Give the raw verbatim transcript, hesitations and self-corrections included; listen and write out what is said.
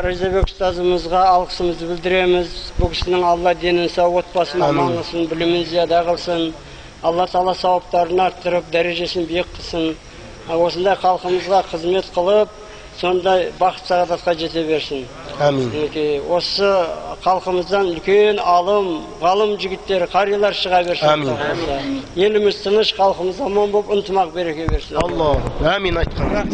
Ризабек устазымызга алкысымызды билдиребиз. Бул кишинин Алла денин сау отбасын, аманлысын, билимин зияда кылсын. Алла Таала саваптарын арттырып, дарежесин бийик кылсын. Осындай халкымызга кызмет кылып, сондай бакыт саадатка жете берсин. Амин. Осы халкымыздан үлкен алым, галым жигиттер, карыйлар чыга берсин. Амин. Элimiz тыныч, халкымыз аман болуп, ынтымак береке берсин. Алла. Амин айткан.